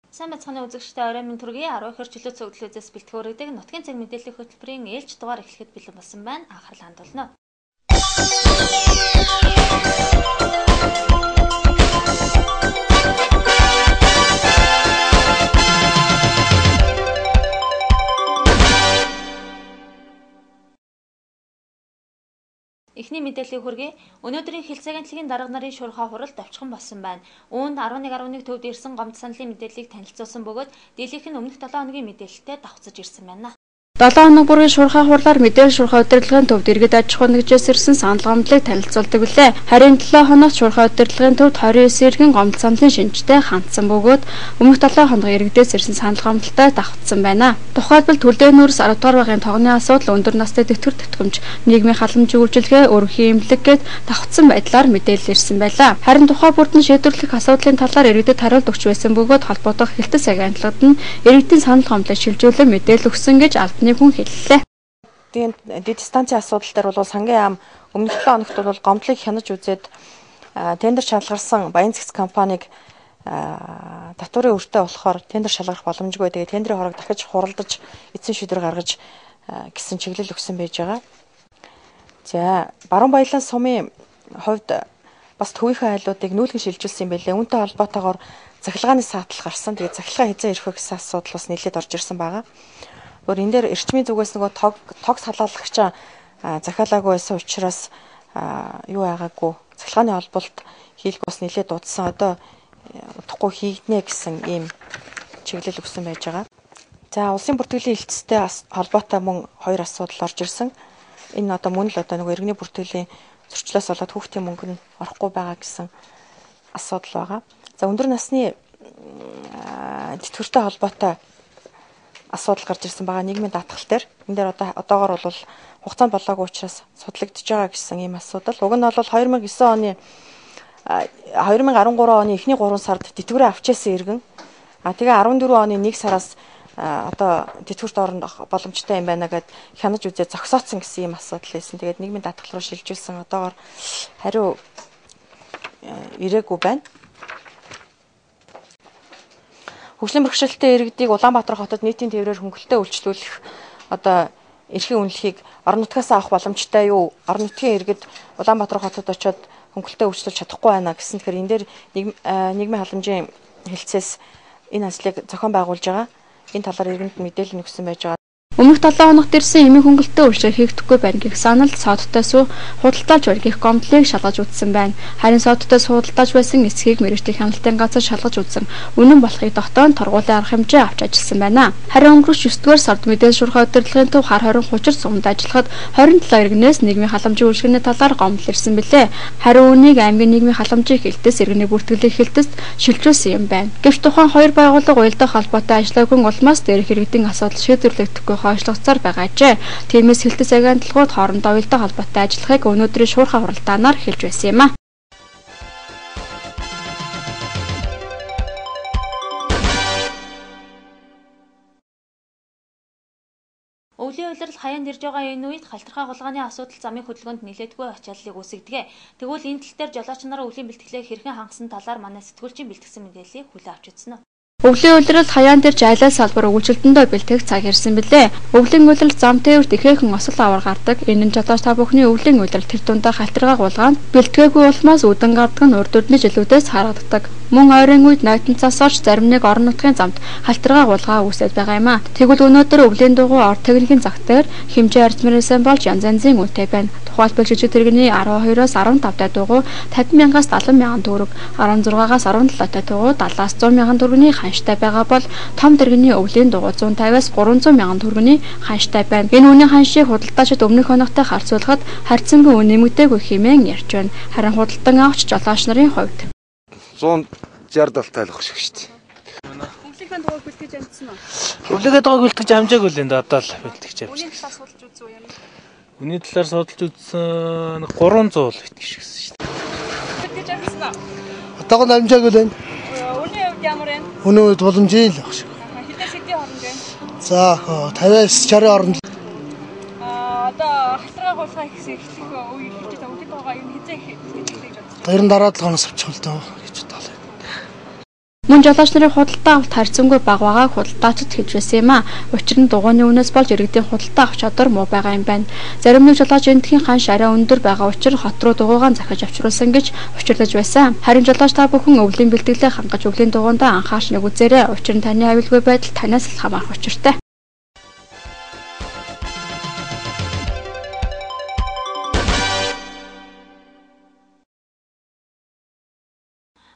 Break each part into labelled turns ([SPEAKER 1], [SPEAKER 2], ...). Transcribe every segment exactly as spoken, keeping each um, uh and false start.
[SPEAKER 1] Сайн бацханы үзэгчтэй орой минь төргийн арван ихэр чөлөө цогцлөөс бэлтгэрэгдэг нутгийн цаг мэдээллийн хөтөлбөрийн ээлж дугаар эхлэхэд бэлэн болсон байна. Анхаарал хандуулна. Эхний мэдээллийн хүргэе. Өнөөдрийн хэлцээгийн цагийн дарга нарын шуурхай хуралд давчхан болсон байна. Үүнд арван нэг арван нэг төвд ирсэн гомд саналын мэдээллийг танилцуулсан бөгөөд дийлэнх нь өмнөх долоо хоногийн мэдээлэлтэй давхцаж ирсэн байна. долоо хоног бүрийн шуурхай хурлаар мэдээлэл шуурхай удирдлагын төвд иргэд аж ахуй нэгжээс ирсэн санал гомдлыг танилцуулдаг билээ. Харин долоо хоногт шуурхай удирдлагын төвд двадцать девять иргэн гомд саналын шинжтэй хандсан бөгөөд өмнөх долоо хоног иргэдээс ирсэн санал гомдолтой давхцсан байна. Тухайлбал төлөвлөгөөний нүрс арав дугаар багийн тогтны асуудал, өндөр настай тэтгэр тэтгэмж, нийгмийн халамжийн үйлчилгээ, өргөхийн эмнэлэг гээд давхцсан байдлаар мэдээлэл ирсэн байлаа. Харин тухай бүрдэн шийдвэрлэх асуудлын талаар иргэдэд хариулт өгч байсан бөгөөд холбоотох хэлтс агентлагад нь иргэдийн санал гомдлыг шилжүүлэн мэдээлэл өгсөн гэж албаны хүн хэллээ.
[SPEAKER 2] Тийм дэд станцын асуудал дээр бол сангийн ам өмнөх долоо хоногт бол гомдлыг хянаж үзээд тендер шалгарсан Баян цэгц компаниг татварын өртөө болохоор тендер шалгарах боломжгүй. Тэгээ тендерийн хорог дахиж хуралдаж эцсийн шийдвэр гаргаж гэсэн чиглэл өгсөн байж байгаа. За Баруун Баялан сумын хувьд бас төвийнхээ айлуудыг нүүлгэн шилжүүлсэн юм байлээ. Үүнтэй холбоотойгоор захилгааны саатлал гарсан. Тэгээ захилгаа хязаа ирэх вэ гэсэн асуудал бас нийлээд орж ирсэн байгаа. Өөр энэ дээр эрчмийн зүгээс нөгөө тог тогс халаалагч захиалаагүй байсан учраас юу байгаагүй захилгааны холболт хийх бас нэлээд дуудсан. Одоо удахгүй хийгднэ гэсэн ийм чиглэл өгсөн байж байгаа. За улсын бүртгэлийн хэлтстэй холбоотой мөн хоёр асуудал орж ирсэн. Энэ одоо мөн л одоо нөгөө иргэний бүртгэлийн зөрчлөөс болоод хүүхдийн мөнгө нь орохгүй байгаа гэсэн асуудал байгаа. За өндөр насны тэтгэвртэй холбоотой асуудал гарч ирсэн байгаа нийгмийн даатгал дээр. Энэ дээр одоо одоогоор бол хугацаанд болоогүй учраас судлагдж байгаа гэсэн ийм асуудал. Уг нь бол две тысячи девять оны две тысячи арван гурван оны эхний гурван сард тэтгэврээ авчээсэн иргэн. А тэгээ арван дөрвөн оны нэг сараас одоо тэтгэврт орох боломжтой юм байна гэд хянаж үзээ зогсооцсон гэсэн ийм асуудал байсан. Тэгээд нийгмийн даатгал руу шилжүүлсэн одоогоор хариу ирээгүй байна. Хөгжлийн бэрхшээлтэй иргэдийг Улаанбаатар хотод нийтийн тээврээр хөнгөлөлтөд үйлчлүүлэх одоо эрхийн үнэлэхийг орон нутгаас авах боломжтой юу? Орон нутгийн иргэд Улаанбаатар хотод очиод хөнгөлөлтөд үйлчлүүлж чадахгүй байна гэсэн. Тэгэхээр энэ дээр нийгмийн халамжийн хэлтсээс энэ ажлыг зохион байгуулж байгаа. Энэ талаар иргэнд мэдээлэл өгсөн байж байгаа. Өмнөх долоо хоногт ирсэн эмийн хөнгөлөлтөд үйлчлэл хийгдэхгүй байна гэх санал содтой суу худалдаалж байна гэх гомдлыг шалгаж үзсэн байна. Харин содтой худалдааж байсан эсхийг мэргэжлийн хяналтын газар шалгаж үзсэн. Үнэн болохыг тогтооно торгуулийн арга хэмжээ авч ажилласан байна. Харин өнгөрөх шесть дугаар сард мэдээлэл шуурхай удирдлагын төв хар хорин хучир сумд ажиллахад двадцать семь иргэнээс нийгмийн халамжийн үйлчлэгээний талаар гомдол ирсэн билээ. Харин үүнийг аймгийн нийгмийн халамжийн хэлтс иргэний бүртгэлийн хэлтэст шилжүүлсэн юм байна. Гэвч тухайн хоёр байгууллага уялдах холбоотой ажиллаагүй улмаас дээрх иргэдийн асуудал шийдвэрлэгдэхгүй хойшлогцоор байгаа ажээ. Тиймээс хэлтэс агентлагууд хоорондоо уялдаа холбоотой ажиллахыг өнөөдрийн шуурхай хуралдаанаар хэлж байсан юм а. Өвлийн улирал хаяанд ирж байгаа энэ үед халтархай хулгайны асуудал замын хөдөлгөөнд нэлээдгүй ачааллыг үүсгэдэг. Тэгвэл энэ тал дээр жолооч нараа өвлийн бэлтгэлээ хэрхэн хангасан талаар манай сэтгүүлчийн бэлтгэсэн мэдээллийг хүлээн авч үзсэн нь. Өвлийн улирал хаяан дээр жайлаа салбар өгүүлэлтэндөө бэлтгэх цаг ирсэн билээ. Өвлийн улирал зам тээвэр дэхэхэн осол аваар гардаг. Энэ нь жолооч та бүхний өвлийн улирал тэр дундаа халтаргаа гулгаанд бэлтгээгүй улмаас үдэн гардаг нь урд үдний жилүүдээс харагддаг. Мөн ойрын үед найтанцаас орж зарим нэг орон нутгийн замд халтаргаа гулгаа үүсэж байгаа юм а. Тэгвэл өнөөдөр өвлийн дугуй орд техникийн зах дээр хэмжээ арзмарсан болж янз янзын үнэтэй байна. Тухайлбал жижиг тэрэгний арван хоёроос арван тавтай дугуй пятьдесят мянгаас сексен мянган төгрөг, арван зургаас арван тай дугуй сексен зуун мянган төгрөгийн ханштай байгаа бол том тэрэгний өвлийн дугуй зуун тавиас гурван зуун мянган төгрөгийн ханштай байна. Энэ үнийн ханшийг худалдаачид өмнөх хоногтой харьцуулахад харьцангуй үн нэмэгдээгүй хэмээн ярьж байна. Харин худалдан авахч жолооч нарын хувьд
[SPEAKER 3] one sixty тайлах шиг шүү дээ.
[SPEAKER 4] Өвлийнхээ дугуйг бэлтгэж амжсан уу?
[SPEAKER 3] Өвлийнхээ дугуйг бэлтгэж амжаагүй л энэ одоо л бэлтгэж
[SPEAKER 4] Үний
[SPEAKER 3] амжсан.
[SPEAKER 4] талаар судалж үзсэн үү юм?
[SPEAKER 3] Үний талаар судалж үзсэн гурван зуун л итгэж гэсэн шүү дээ.
[SPEAKER 4] Бэлтгэж амжсан уу?
[SPEAKER 5] Одоог нь амжаагүй л байна.
[SPEAKER 4] Үний хувьд ямар вэ?
[SPEAKER 5] Өнөө үед боломжтой л баг шиг.
[SPEAKER 4] Хэдээс хэдийн хооронд вэ?
[SPEAKER 5] За fifty-аас sixty хооронд.
[SPEAKER 4] Аа одоо халтаргаа гулгай гэсэн эхлэх үе хэлж байгаа. Үний дугуйгаа юу хизээ хэлж хэлж бодсон.
[SPEAKER 5] Тэр нь дараа долоо хоногс авчих л доо гэж бодлоо.
[SPEAKER 6] Мөн жолооч нарын худалдаа авалт харьцангуй бага байгааг худалдаачид хэлж байсан юм а. Учир нь дугуйны үнээс болж иргэдийн худалдаа авах чадвар муу байгаа юм байна. Зарим нэг жолооч эндхийн ханш арай өндөр байгаа учраас хот руу дугуйгаан захиж авчруулсан гэж учирлаж байсан. Харин жолооч та бүхэн өвлийн бэлтгэлээ хангаж өвлийн дугуйндаа анхаарч нэг үзээрэй. Учир нь таны аюулгүй байдал танаас л хамаарах учиртай.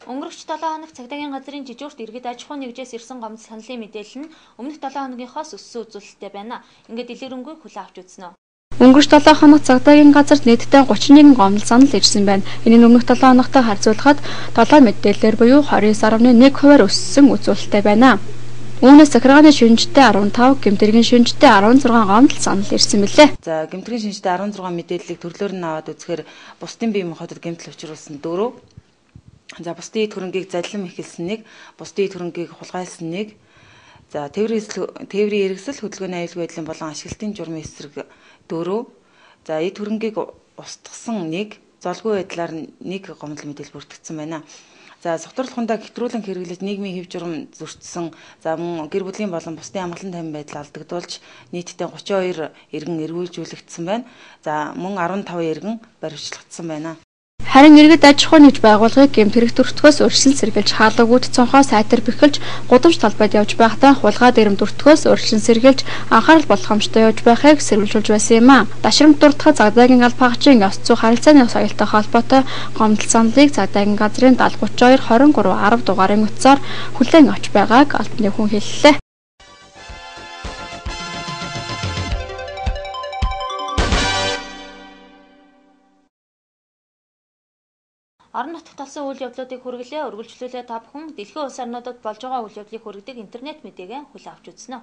[SPEAKER 1] Өнгөрөх долоо хоног цагдаагийн газрын жижүүрт иргэд аж ахуй нэгжээс ирсэн гомдол саналын мэдээлэл нь өмнөх долоо хоногийнхоос өссөн үзүүлэлттэй байна. Ингээд дэлгэрэнгүй хүлээн авч үзнэ.
[SPEAKER 6] Өнгөрч долоо хоног цагдаагийн газарт нийтдээ гучин нэгэн гомдол санал ирсэн байна. Энэ нь өмнөх долоо хоногтой харьцуулахад долоо мэдээлэлээр буюу двадцать девять дашнаа нэг хувиар өссөн үзүүлэлттэй байна. Үүнээс захиргааны шинжтэй арван тав, гэмтрийн шинжтэй арван зургаан гомдол санал ирсэн мэлээ.
[SPEAKER 7] За гэмтрийн шинжтэй арван зургаан мэдээллийг төрлөөр нь аваад үзэхээр бусдын бие махбодод гэмтэл учруулсан дөрөв. За бусдын эд хөрөнгийг задлан эхэлсэн нэг, бусдын эд хөрөнгийг хулгайлсан нэг. За тээврийн тээврийн эргэсэл хөдөлгөөний аюулгүй байдлын болон ашиглалтын журмын эсрэг дөрөв. За эд хөрөнгийг устгасан нэг, золгүй байдлаар нэг гомдол мэдээлэл бүртгэгдсэн байна. За согтуурлахундаа хэвтрүүлэн хэрэглэж нийгмийн хэв журам зөрчсөн. За мөн гэр бүлийн болон бусдын амгалан тайван байдал алдагдуулж нийтдээ гучин хоёр иргэн эргүүлжүүлэгдсэн байна. За мөн арван тав иргэн баривчлагдсан байна.
[SPEAKER 6] Харин иргэд аж ахуй нэгж байгууллагыг гэмт хэрэг төртгөөс өөрчлөн сэргийлж хаалгагүйд цонхоо сайтар бэхэлж гудамж талбайд явж байхдаа хулгай дэрэм төртгөөс өөрчлөн сэргийлж анхаарал болгоомжтой явж байхыг сэрүүлжүүлж байсан юм а. Дашрамт дуртахад цагдаагийн алба хаагчийн ёс зүй харилцааны соёлтой холбоотой гомдол саналыг цагдаагийн газрын даатгалын гучин хоёр хорин гурав арав дугаарын утсаар хүлээн авч байгааг албаны хүн хэллээ.
[SPEAKER 1] Орон нутагт болсон үйл явдлуудыг хүргэлээ, үргэлжлүүлээ та бүхэн дэлхийн улс орнуудад болж байгаа үйл явдлыг хүргэдэг интернет мэдээгээ хүлээн авч үзнэ.